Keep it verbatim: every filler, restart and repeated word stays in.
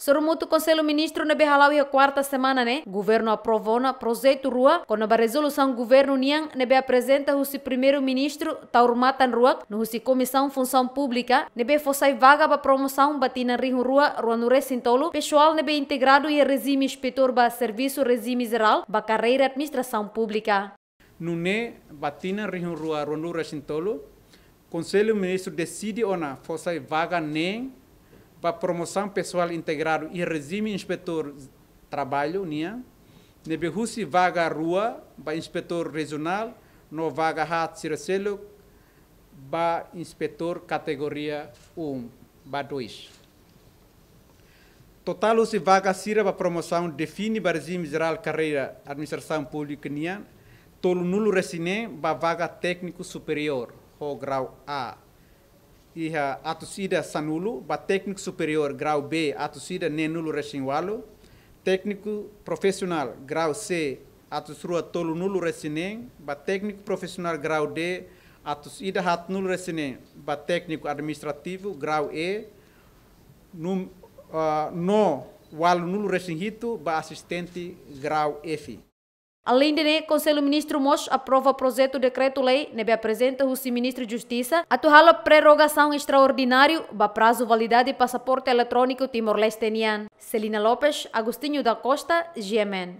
Sorumutu, Konsellu Ministru ne'ebé hala'o iha kuarta semana ne'e, Governu aprova ona projetu rua kona-ba rezolusaun Governu nian ne'ebé aprezenta husi Primeiru-Ministru Taur Matan Ruak no husi Komisaun Funsaun Públika, ne'ebé fó sai vaga ba promosaun ba tinan rihun rua ruanulu-resin-tolu pesoál ne'ebé integradu iha rejime inspetór ba servisu rejime jerál ba karreira administrasaun públika. Nune'e, ba tinan rihun rua ruanulu-resin-tolu, Konsellu Ministru deside ona fó sai vaga neen ba promosaun pesoál integradu iha rejime inspetór traballu nian, ne'ebé husi vaga rua ba inspetór rejionál no vaga haat sira seluk ba inspetór kategoria um ba dois. Totál husi vaga sira ba promosaun define ba rejime jerál karreira administrasaun públika nian, tolunulu-resin-neen ba vaga tékniku superiór ho grau A, iha atus ida sanulu, ba tékniku superiór grau B atus ida neenulu-resin-ualu, tékniku profisionál grau C atus rua tolunulu-resin-neen, ba tékniku profisionál grau D atus ida haatnulu-resin-neen, ba tékniku administrativu grau E, num-, ah, no ualunulu-resin-hitu ba asistente grau F. Aleinde ne'e, Konsellu Ministru mós aprova projetu dekretu-lei ne'ebé aprezenta husi Ministru Justisa atu halo prorrogasaun estraordináriu ba prazu validade pasaporte eletróniku Timor-Leste nian. Celina Lopes, Agostinho da Costa, G M N.